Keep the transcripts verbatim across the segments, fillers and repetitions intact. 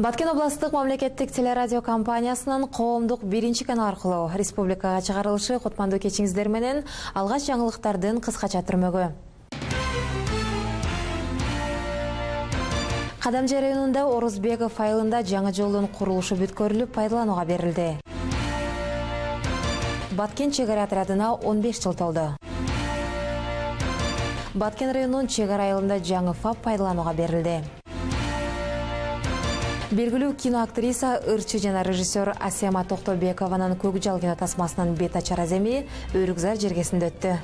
Баткен областык мамлекеттик телерадио компаниясынын коомдук биринчи канал аркылуу республикага чыгарылышы кутмандуу кечиңиздер менен алгач жаңылыктардын кыскача түрмөгү. Кадамжай районунда Орузбеков айылында жаңы жолдун курулушу бүткөрүлүп пайдаланууга берилди. Баткен чек ара отрядына он беш жыл толду. Баткен районунун чек ара айылында жаңы ФАП пайдаланууга берилди. Белгилүү киноактриса, ырчы жана режиссер Асема Токтобекованын Көкжал кино тасмасынын бет ачар аземи Өрүкзар жергесинде өттү.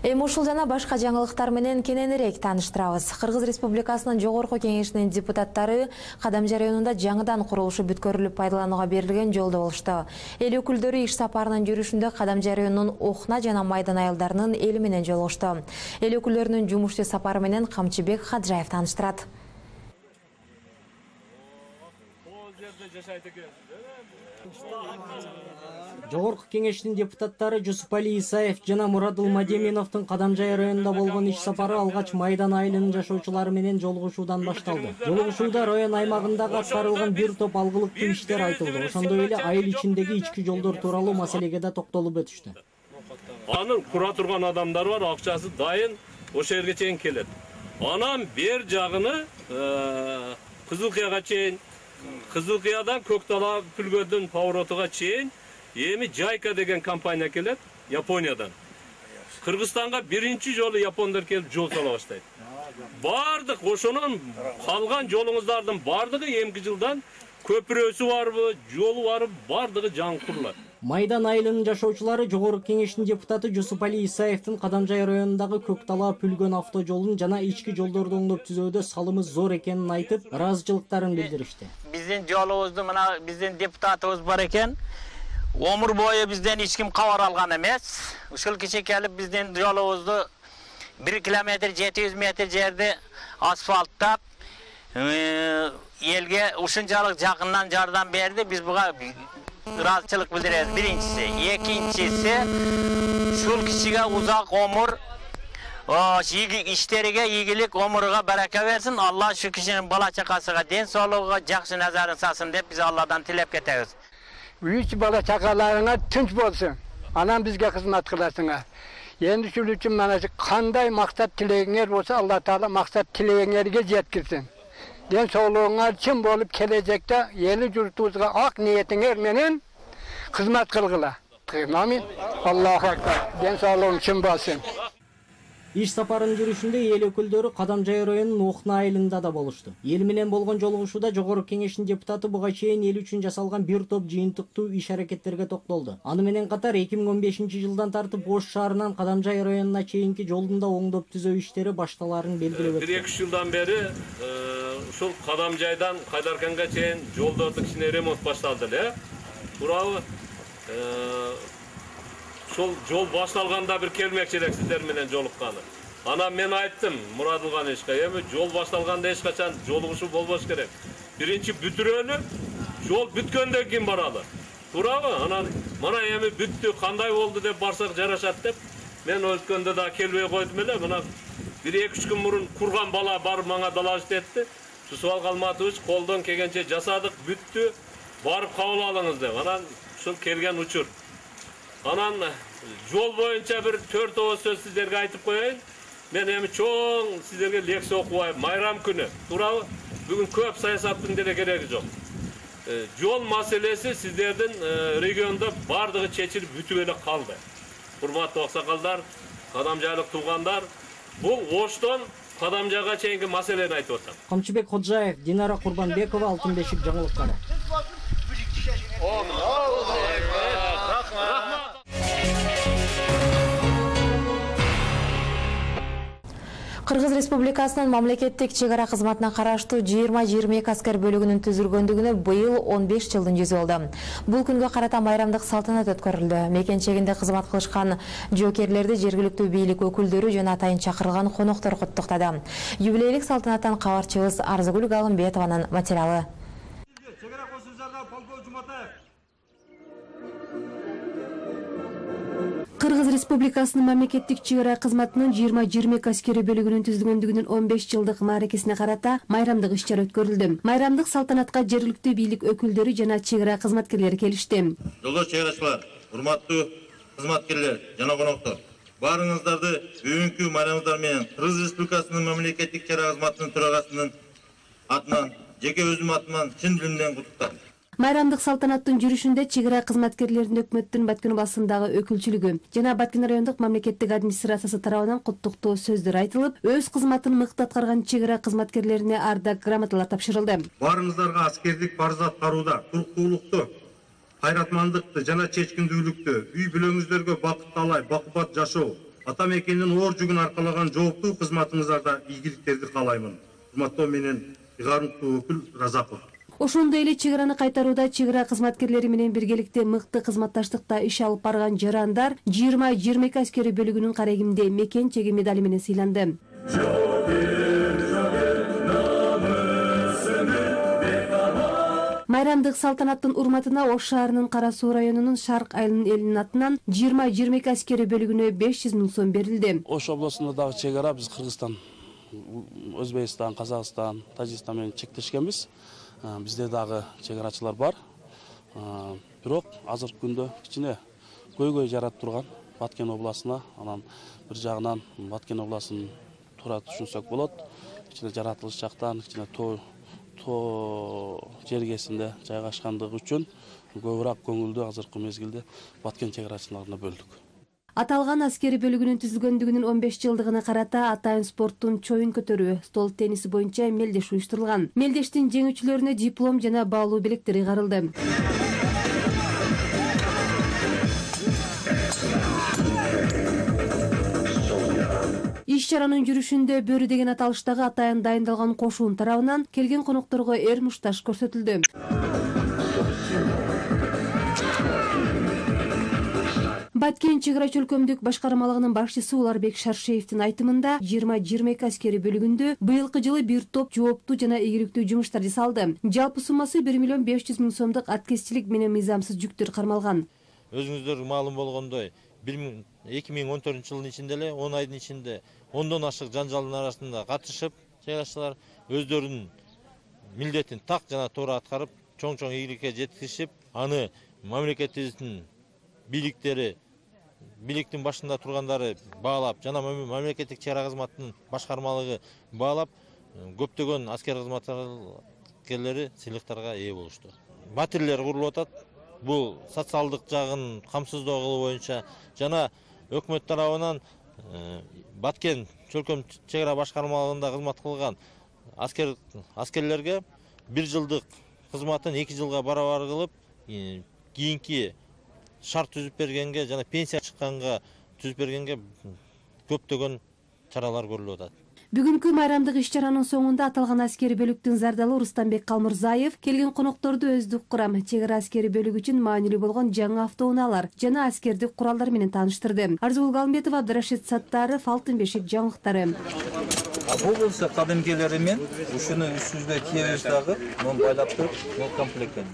Эми ушул жана башка жаңылыктар менен кененирээк тааныштырабыз. Кыргыз Республикасынын Жогорку Кеңешинин депутаттары Кадамжай районунда жаңыдан курулушу бүткөрүлүп пайдаланууга берилген жолдо болушту. Эл өкүлдөрү иш сапарынын жүрүшүндө Кадамжай районунун Охна жана Майдан айылдарынын эли менен жолугушту. Эл өкүлдөрүнүн жумуштуу сапары менен Камчыбек Хаджаев тааныштырат. Жогорку Кеңештин депутаттары Жусупали Исаев жана Мурадыл Мадеминовдун Кадамжай районунда болгон иш сапары алгач Майдан айылынын жашоочулары менен жолугушуудан башталды. Жолугушууда район аймагындагы аткарылган бир топ алгылыктуу иштер айтылды. Ошондой эле айыл ичиндеги ички жолдор тууралуу маселеге да токтолуп өтүштү. Анын кура турган адамдар бар, акчасы дайын, ошол жерге чейин келет. Анан бер жагыны Кызылкыяга чейин, Кызылкыядан Көктала Пүлгөдүн поворотуга чейин эми Жайка деген компания келет Япониядан. Кыргызстанга биринчи жолу япондор келип жол сала баштайт. Бардык ошонун калган жолуңуздардын бардыгы эмки жылдан көпүрөсү барбы, жолу барбы, бардыгы жаңы курулат. Майдан айылынын жашоочулары Жогорку Кеңештин депутаты Жусупали Исаевдин Кадамжай районундагы Көктала Пүлгөн автожолун жана ички жолдорду оңдоп түзүүдө салымы зор экенин айтып, ыраазычылыктарын билдиришти. Биздин жолубузду мына биздин депутатыбыз бар экен. Өмүр бою бизден эч ким кабар алган эмес. Ушул киши келип биздин жолубузду бир километр жети жүз метр жерди асфальттап элге ушунчалык жакындан жардам берди. Биз буга ыраазычылык билдиребиз. Биринчиси, экинчиси ушул кишиге узак өмүр, иштериге ийгилик, өмүрүгө барака берсин. Алла шу кишинин бала чакасыга ден соолугуга жакшы назарын салсын деп биз Алладан тилеп кетебиз. Üç bala çakalarına tünç bolsun. Anam bizge hizmet kılasına. Endi şul üçün mana kanday maksat tileğiңер bolsa Allah Taala maksat tileğiңерге жеткирсин. Den soğluğuңar çim bolup gelecekte eli jurtubuzga ak niyetiңер menen hizmet kılgıla. Amin. Allahu akbar. Den soğluğuң çim bolsun. Иш сапарынын жүрүшүндө эл өкүлдөрү Кадамжай районунун Охна айылында да болушту. Эл менен болгон жолугушууда Жогорку Кеңештин депутаты буга чейин эл үчүн жасалган бир топ жыйынтыктуу иш аракеттерге токтолду. Аны менен катар эки миң он бешинчи жылдан тартып Ош шаарынан Кадамжай районуна чейинки жолдун да оңдоп түзөө иштери башталарын белгилеп өттү. бир эки жылдан бери ушул Кадамжайдан Кайдарканга чейин жолдорду кичине ремонт башталды эле. Туурабы? Ошол жол башталганда бир келмекчи элек сиздер менен жолукканы. Анан мен айттым Мурадылган эшке, эми жол башталганда эч качан жолугушуу болбош керек. Биринчи бүтүрөлү, жол бүткөндөн кийин баралы. Туурабы? Анан мына эми бүттү, кандай болду деп барсак жарашат деп мен өткөндө да келбей койдум эле. Мына бир эки үч күн мурун курган бала барып мага доложить этти. Жусупал Калматович колдон келгенче жасадык, бүттү, барып кабыл алыңыз деп. Анан ушул келген учур. Анан жол боюнча бир төрт ооз сөз сиздерге айтып коеюн. Мен эми чоң сиздерге лекция окубайм. Майрам күнү. Туурабы? Бүгүн көп саясаттын деле кереги жок. Жол маселеси сиздердин региондо бардыгы чечилип бүтүп эле калды. Урматтуу аксакалдар, кадамжайлык туугандар, бул Оштон Кадамжайга чейинки маселени айтып атам. Камчыбек Ходжаев, Динара Курбанбекова, Алтын бешик жаңылыктары. Кыргыз Республикасынын мамлекеттик чек ара кызматына караштуу жыйырма жыйырма эки аскер бөлүгүнүн түзүлгөндүгүнө быйыл он беш жылдын жүзү болду. Бул күнгө карата майрамдык салтанат өткөрүлдү. Мекенчегинде кызмат кылышкан жоокерлерди жергиликтүү бийлик өкүлдөрү жана атайын чакырылган коноктор куттуктады. Юбилейлик салтанаттан кабарчыбыз Арзыгүл Галымбетованын материалы. Кыргыз Республикасынын мамлекеттик чек ара кызматынын жыйырма жыйырма эки аскери бөлүгүнүн түзүлгөндүгүнүн он беш жылдык мааракесине карата майрамдык иш чара өткөрүлдү. Майрамдык салтанатка жергиликтүү бийлик өкүлдөрү жана чек ара кызматкерлери келишти. Жолдош чек арачылар, урматтуу кызматкерлер жана коноктор, баарыңыздарды бүгүнкү майрамыңыздар менен Кыргыз Республикасынын мамлекеттик чек ара кызматынын төрагасынын атынан, жеке өзүм атыман чын дилимден куттуктайм. Майрамдык салтанаттын жүрүшүндө чек ара кызматкерлеринин өкмөттүн Баткен областындагы өкүлчүлүгү жана Баткен райондук мамлекеттик администрациясы тарабынан куттуктоо сөздөр айтылып, өз кызматын мыкты аткарган чек ара кызматкерлерине ардак грамоталар тапшырылды. Баарыңыздарга аскердик парыз аткарууда туруктуулукту, кайратмандыкты жана чечкиндүүлүктү, үй бүлөңүздөргө бакыт талай, бакубат жашоо, ата мекендин оор жүгүн аркалаган жооптуу кызматыңыздарда ийгиликтерди каалаймын. Урматтоо менен ыйгарымдуу өкүл Разаков. Ошондой эле чек араны кайтарууда чек ара кызматкерлери менен биргеликте мыкты кызматташтыкта иш алып барган жарандар жыйырма жыйырма эки аскери бөлүгүнүн карегимде мекен чеги медали менен сыйланды. Майрамдык салтанаттын урматына Ош шаарынын Кара Суу районунун Шарк айылынын элинин атынан жыйырма жыйырма эки аскери бөлүгүнө беш жүз миң сом берилди. Ош областында дагы чек ара биз Кыргызстан, Өзбекстан, Казакстан, Тажикстан менен чектешкенбиз. Бизде дагы чек арачылар бар. Бирок азыркы күндө кичине көйгөй жаратып турган Баткен областына, анан бир жагынан Баткен областын туура түшүнсөк болот. Кичине жаратылыш жактан, кичине тоо тоо жергесинде жайгашкандыгы үчүн көбүрөөк көңүлдү азыркы мезгилде Баткен чек арачыларына бөлдүк. Аталган аскери бөлүгүнүн түзүлгөндүгүнүн он беш жылдыгына карата атайын спорттун чоюн көтөрүү, стол тенниси боюнча мелдеш уюштурулган. Мелдештин жеңүүчүлөрүнө диплом жана баалуу белектер ыйгарылды. Иш чаранын жүрүшүндө Бөрү деген аталыштагы атайын дайындалган кошуун тарабынан келген конокторго эр мушташ көрсөтүлдү. Баткен чек ара өлкөмдүк башкармалыгынын башчысы Уларбек Шаршеевдин айтымында жыйырма жыйырма эки аскери бөлүгүндө быйылкы жылы бир топ жооптуу жана ийгиликтүү жумуштар жасалды. Жалпы суммасы бир миллион беш жүз миң сомдук аткезчилик менен мыйзамсыз жүктөр кармалган. Өзүңүздөр маалым болгондой, эки миң он төртүнчү жылдын ичинде эле он айдын ичинде ондон ашык жанжалдын арасында катышып, чек арачылар өздөрүнүн милдетин так жана туура аткарып, чоң-чоң ийгиликке жеткизишип, аны мамлекетибиздин бийликтери бийликтин башында тургандары баалап, жана мамлекеттик чек ара кызматынын башкармалыгы баалап, көптөгөн аскер кызматкерлери сыйлыктарга ээ болушту. Батирлер курулуп атат. Бул социалдык жагын камсыздоо боюнча жана өкмөт тарабынан Баткен чөлкөм чек ара башкармалыгында кызмат кылган аскер аскерлерге бир жылдык кызматын эки жылга барабар кылып, кийинки шарт түзүп бергенге жана пенсия чыкканга түзүп бергенге көптөгөн чаралар көрүлүп атат. Бүгүнкү майрамдык иш чаранын соңунда аталган аскери бөлүктүн зардалы Рустамбек Калмырзаев келген конокторду өздүк курам чек ара аскери бөлүк үчүн маанилүү болгон жаңы автоунаалар жана аскердик куралдар менен тааныштырды. Арзгул Галымбетова, Абдырашид Саттаров, Алтын бешик жаңылыктары. Бул болсо кадимкилери мен ушуну үстүбүзгө кийебиз дагы, муну байлап туруп, бул комплектен.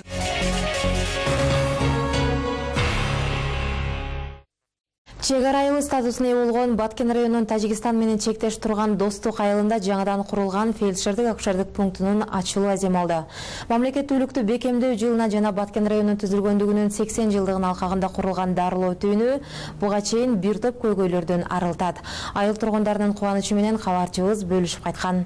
Чек ара айылы статусуна ээ болгон Баткен районунун Тажикстан менен чектеш турган Достук айылында жаңадан курулган фельдшердик акушердик пунктунун ачылуу азем алды. Мамлекеттүүлүктү бекемдөө жылына жана Баткен районунун түзүлгөндүгүнүн сексен жылдыгын алкагында курулган дарылоо түйүнү буга чейин бир топ көйгөйлөрдөн арылтат. Айыл тургундарынын кубанычы менен кабарчыбыз бөлүшүп кайткан.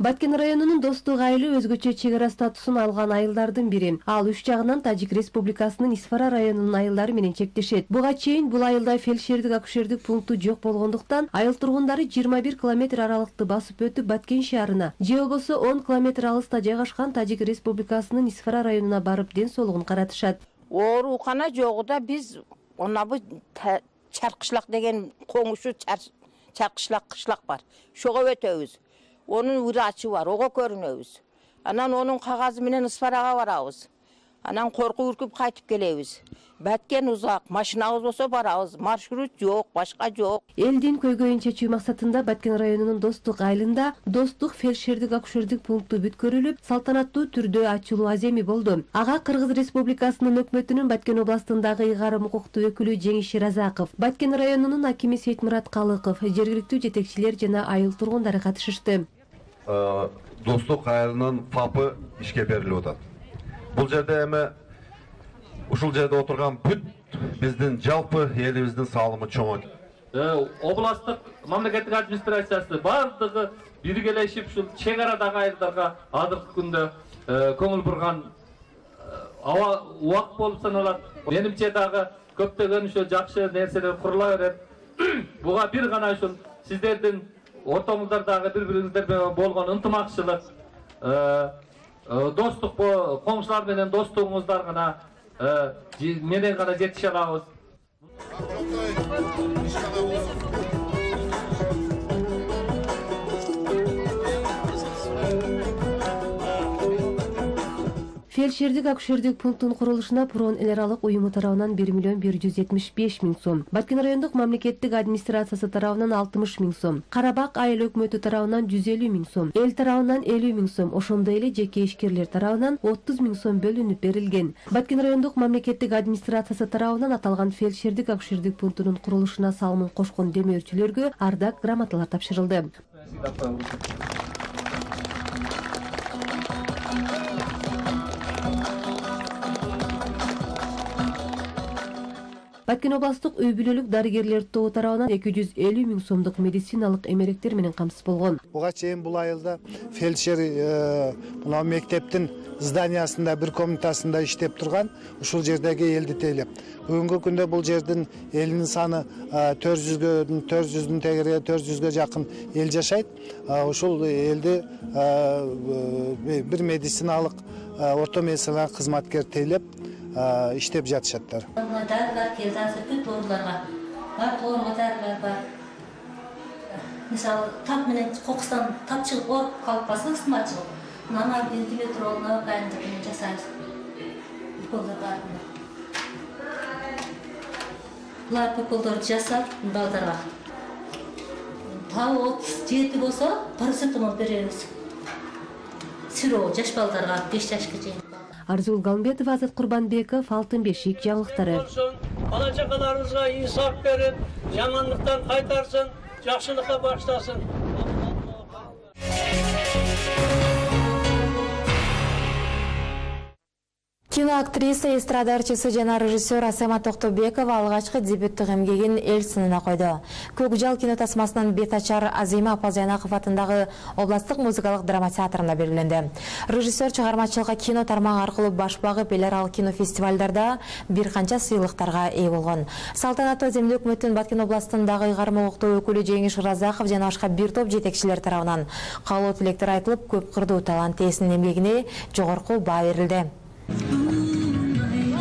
Баткен районунун Достук айылы өзгөчө чек ара статусун алган айылдардын бири. Ал үч жагынан Тажик Республикасынын Исфара районунун айылдары менен чектешет. Буга чейин бул айылда фельдшердик акушердик пункту жок болгондуктан айыл тургундары жыйырма бир километр аралыкты басып өтүп Баткен шаарына же болбосо он километр алыста жайгашкан Тажик Республикасынын Исфара районуна барып ден соолугун каратышат. Оорукана жогуда биз онабы Чаркышлак деген коңушу Чаркышлак кышлак бар. Шого өтөбүз. Onun врачы бар, ого көрүнөбүз. Анан онун кагазы менен Исфарага барабыз. Анан коркуп үркүп кайтып келебиз. Баткен узак, машинабыз болсо барабыз, маршрут жок, башка жок. Элдин көйгөйүн чечүү максатында Баткен районунун Достук айылында Достук фельдшердик акушердик пункту бүткөрүлүп, салтанаттуу түрдө ачылуу аземи болду. Ага Кыргыз Республикасынын өкмөтүнүн Баткен областындагы ыйгарым укуктуу өкүлү Жеңиш Разаков, Баткен районунун акими Сейтмурат Калыков, жергиликтүү жетекчилер жана айыл тургундары катышышты. Достук айылынын ФАПы ишке берилип атат. Бул жерде эми ушул жерде отурган бүт биздин жалпы элибиздин салымы чоң. Областтык мамлекеттик администрациясы бардыгы биргелешип ушул чек арадагы айылдарга азыркы күндө көңүл бурган аба убак болуп саналат. Менимче дагы көптөгөн ушул жакшы нерселер курула берет. Буга бир гана ушул сиздердин ортоңуздардагы бири-бириңиздер менен болгон ынтымакчылык, достук коңшулар менен достугуңуздар гана менен гана жетише алабыз. Фельдшердик акушердик пунктун курулушуна Прон эл аралык уюму тарабынан бир миллион бир жүз жетимиш беш миң сом, Баткен райондук мамлекеттик администрациясы тарабынан алтымыш миң сом, Карабак айыл өкмөтү тарабынан жүз элүү миң сом, эл тарабынан элүү миң сом, ошондой эле жеке ишкерлер тарабынан отуз миң сом бөлүнүп берилген. Баткен райондук мамлекеттик администрациясы тарабынан аталган фельдшердик акушердик пунктунун курулушуна салымын кошкон демөөрчүлөргө ардак грамоталар тапшырылды. Баткен областык үй бүлөлүк дарыгерлер тобу тарабынан эки жүз элүү миң сомдук медициналык эмеректер менен камсыз болгон. Буга чейин бул айылда фельдшер мына мектептин зданиясында бир комнатасында иштеп турган, ушул жердеги элди тейлеп. Бүгүнкү күндө бул жердин элинин саны төрт жүздүн тегерге төрт жүзгө жакын эл жашайт. Ушул элди бир медициналык орто медициналык кызматкер тейлеп иштеп жатышаттар. Дәрілер келді, азыр бүт орынларға. Бар орынға дәрілер бар. Мысалы, тап менен қоқыстан тап шығып орып қалып қалса, ысыма шығып. Мына вентилятор олына қайындығымен жасаймыз. Бүкілдер бар. Бұлар бүкілдерді жасап, балдарға. Тау отуз жети болса, парацетамол береміз. Сиро жаш балдарға беш жашқа чейин. Арзул Галымбетова, Азат Курбанбеков, Алтын бешик жаңылыктары. Бала чакаларыбызга инсап берип, жамандыктан кайтарсын, жакшылыкка баштасын. Киноактриса, эстрада ырчысы жана режиссер Асема Токтобекова алгачкы дебюттук эмгегин эл сынына койду. Көкжал кино тасмасынын бет ачар Азима Апазянаков атындагы областтык музыкалык драма театрында белгиленди. Режиссер чыгармачылыкка кино тармагы аркылуу баш багып, эл аралык кино фестивалдарда бир канча сыйлыктарга ээ болгон. Салтанаттуу аземде өкмөттүн Баткен областындагы ыйгарым укуктуу өкүлү Жеңиш Разаков жана башка бир топ жетекчилер тарабынан каалоо тилектер айтылып, көп кырдуу талант ээсинин эмгегине жогорку баа берилди.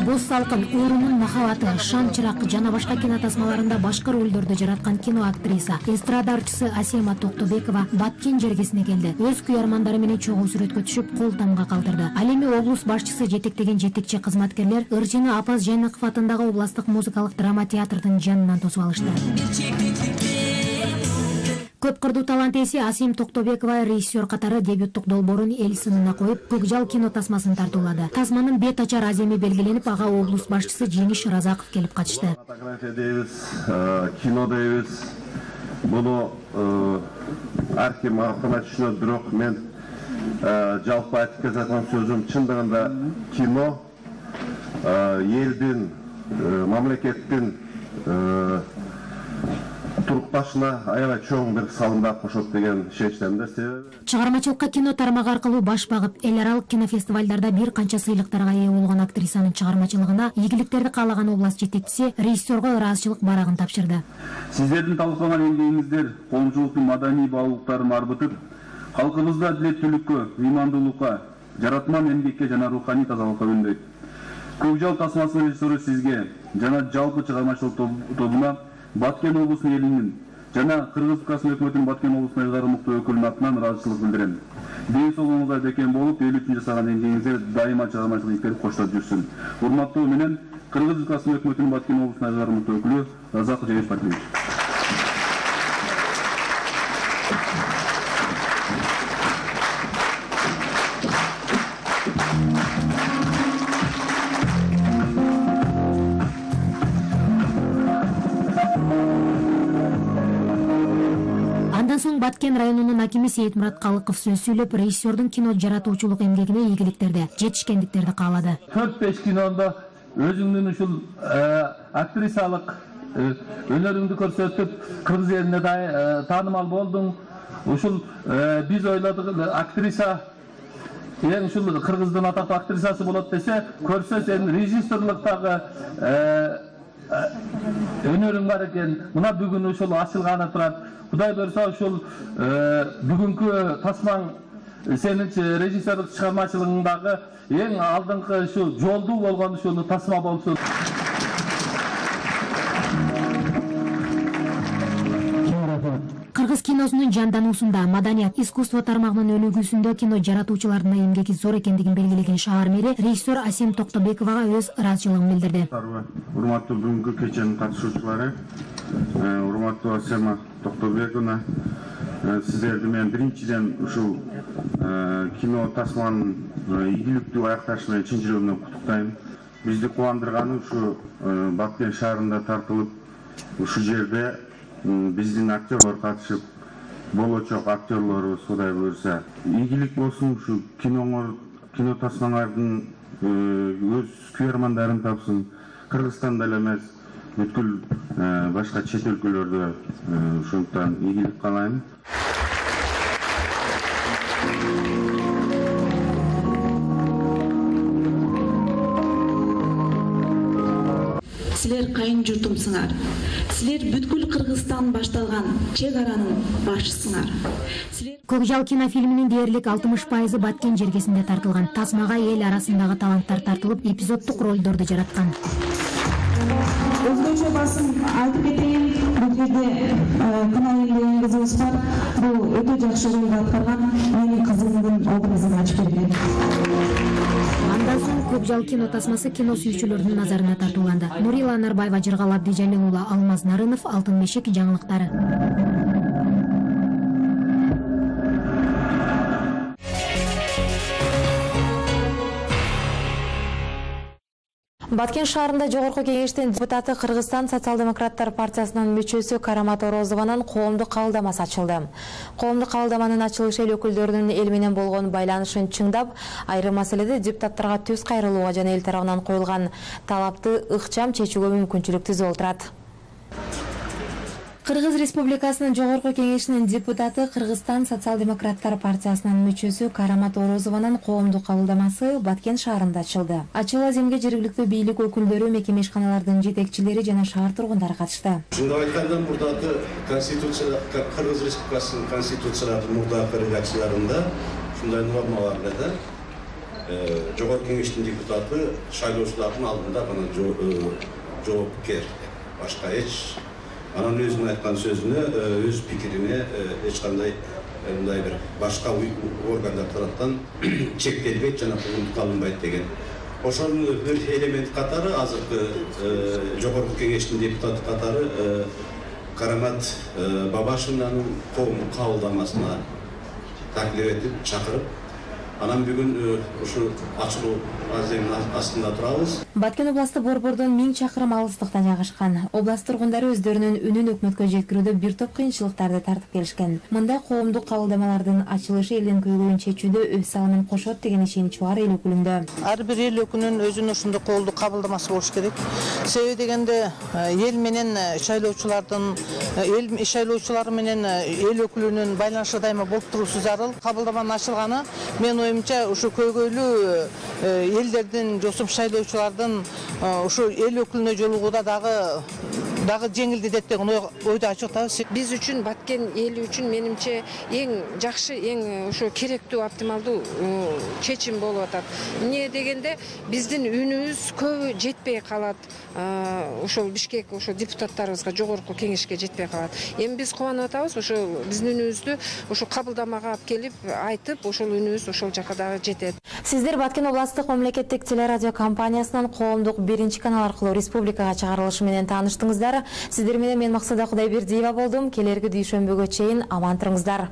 Боз салкын, Өрүнүн махабаты, Шам чырак жана башка кино тасмаларында башка ролдорду жараткан кино актриса, эстрада ырчысы Асема Токтобекова Баткен жергесине келди. Өз күйөрмандары менен чогуу сүрөткө түшүп, кол тамга калтырды. Ал эми облус башчысы жетектеген жетекчи кызматкерлер ырчыны Апаз Жайнаков атындагы областтык музыкалык драма театрдын жанынан тосуп алышты. Көп кырдуу талант ээси Асем Токтобекова режиссер катары дебюттук долбоорун эл сынына коюп, Көкжал кино тасмасын тартуулады. Тасманын бет ачар аземи белгиленип, ага облус башчысы Жеңиш Разаков келип катышты. Фотография дейбиз, кино дейбиз. Буну ар ким аркына түшүнөт, бирок мен жалпы айтып кеткен сөзүм чындыгында кино элдин, мамлекеттин турукташына аябай чоң бир салымдар кошот деген шечтемде. Чыгармачылыкка кино тармагы аркылуу баш багып, эл аралык кинофестивалдарда бир канча сыйлыктарга ээ болгон актрисанын чыгармачылыгына ийгиликтерди каалаган област жетекчиси режиссерго ыраазычылык барагын тапшырды. Сиздердин талкуулаган эмгегиңиздер коомчулуктун маданий баалуулуктарын арбытып, калкыбызды адилеттүүлүккө, ыймандуулукка, жаратман эмгекке жана руханий тазалыкка үндөйт. Көкжал тасмасынын режиссеру сизге жана жалпы чыгармачылык тобуна Баткен облусунун элинин жана Кыргыз Республикасынын өкмөтүнүн Баткен облусуна ыйгарым мукты өкүлүнүн атынан ыраазычылык билдирем. Ден соолугуңузга бекем болуп, эл үчүн жасаган эмгегиңиздер дайыма чыгармачылык иштери коштоп жүрсүн. Урматтоо менен Кыргыз Республикасынын өкмөтүнүн Баткен облусуна ыйгарым мукты өкүлү Разак Жеңиш Батиевич. Андан соң Баткен районунун акими Сейитмурат Калыков сөз сүйлөп, режиссердун кино жаратуучулук эмгегине ийгиликтерди, жетишкендиктерди каалады. төрт беш кинондо өзүңдүн ушул актрисалык өнөрүңдү көрсөтүп, кыргыз элине да таанымал болдуң. Ушул биз ойладык актриса эң ушул кыргыздын атактуу актрисасы болот десе, көрсө сен режиссерлуктагы өнөрүң бар экен. Мына бүгүн ушул ачылганы турат. Кудай берсе ушул бүгүнкү тасмаң сенин режиссерлук чыгармачылыгыңдагы эң алдыңкы ушу жолдуу болгон ушул тасма болсун. Кыргыз киносунун жандануусунда маданият, искусство тармагынын өнүгүүсүндө кино жаратуучулардын эмгеги зор экендигин белгилеген шаар мэри режиссер Асем Токтобековага өз ыраазычылыгын билдирди. Урматтуу бүгүнкү кеченин катышуучулары, урматтуу Асема Токтобековна, сиздерди мен биринчиден ушул кино тасманын ийгиликтүү аякташы менен чын жүрөгүмдөн куттуктайм. Бизди кубандырганы ушу Баткен шаарында тартылып, ушул жерде биздин актерлор катышып, болочок актерлорубуз Кудай буйрса ийгилик болсун, ушу киноңор, кино тасмаңардын өз күйөрмандарын тапсын. Кыргызстанда эле эмес, бүткүл башка чет өлкөлөрдө ушунтан ийгилик каалайм. Силер кайын журтумсуңар. Силер бүткүл Кыргызстан башталган чек аранын башчысыңар. Көкжал кинофильминин дээрлик алтымыш пайызы Баткен жергесинде тартылган. Тасмага эл арасындагы таланттар тартылып, эпизоддук ролдорду жараткан. Өзгөчө басым айтып кетейин, бул жерде Кынай деген кызыбыз бар. Бул өтө жакшы ролду аткарган, менин кызымдын образын ачып берген. Андан соң Көкжал кино тасмасы кино сүйүүчүлөрдүн назарына тартууланды. Нурила Нарбаева, Жыргал Абдижалил уулу, Алмаз Нарынов, Алтын Мешек жаңылыктары. Баткен шаарында жогорку кеңештин депутаты Кыргызстан социал-демократтар партиясынын мүчөсү Карамат Орозованын коомдук кабылдамасы ачылды. Коомдук кабылдаманын ачылышы эл өкүлдөрүнүн эл менен болгон байланышын чыңдап, айрым маселеде депутаттарга түз кайрылууга жана эл тарабынан коюлган талапты ыкчам чечүүгө мүмкүнчүлүк түзүп отурат. Кыргыз Республикасынын жогорку кеңешинин депутаты Кыргызстан социал-демократтар партиясынын мүчөсү Карамат Орозованын коомдук кабылдамасы Баткен шаарында ачылды. Ачыл аземге жергиликтүү бийлик өкүлдөрү, мекеме ишканалардын жетекчилери жана шаар тургундары катышты. Ушундай айтканда, мурдагы конституция, Кыргыз Республикасынын конституцияларынын мурдагы редакцияларында ушундай норма бар эле. Жогорку кеңештин депутаты шайлоочулардын алдында гана жоопкер, башка эч анан өзүнүн айткан сөзүнө, өз пикирине эч кандай мындай бир башка органдар тараптан чектелбейт жана куугунтук алынбайт деген. Ошонун бир элемент катары азыркы жогорку кеңештин депутаты катары Карамат Бабашевнанын коомдук кабылдамасына таклif этип чакырып, анан бүгүн ушу ачылуу аземин астында турабыз. Баткен областы Борбордон миң чакырым алыстыкта жайгашкан. Област тургундары өздөрүнүн үнүн өкмөткө жеткирүүдө бир топ кыйынчылыктарды тартып келишкен. Мындай коомдук кабылдамалардын ачылышы элдин көйгөйүн чечүүдө өз салымын кошот деген ишенич бар эл өкүлүндө. Ар бир эл өкүлүнүн өзүнүн ушундай коомдук кабылдамасы болуш керек. Себеби дегенде эл менен шайлоочулардын, эл шайлоочулары менен эл өкүлүнүн байланышы дайыма болуп туруусу зарыл. Кабылдаманын ачылганы мен оюмча ушу көйгөйлүү элдердин, жосуп шайлоочулардын ушу эл өкүлүнө жолугууда дагы дагы жеңилдетет деген ойдо ачыктабыз. Биз үчүн, Баткен эли үчүн менимче эң жакшы, эң ошо керектүү, оптималдуу чечим болуп атат. Эмне дегенде биздин үнүбүз көбү жетпей калат. Ошол Бишкек ошо депутаттарыбызга, жогорку кеңешке жетпей калат. Эми биз кубанып атабыз, ошо биздин үнүбүздү ошо кабылдамага алып келип айтып, ошол үнүбүз ошол жака дагы жетет. Сиздер Баткен областык мамлекеттик телерадио компаниясынын коомдук биринчи канал аркылуу республикага чыгарылышы менен тааныштыңыздар. Сиздер менен мен Максуда Кудайбердиева болдум. Келерки дүйшөмбөгө чейин аман туруңуздар.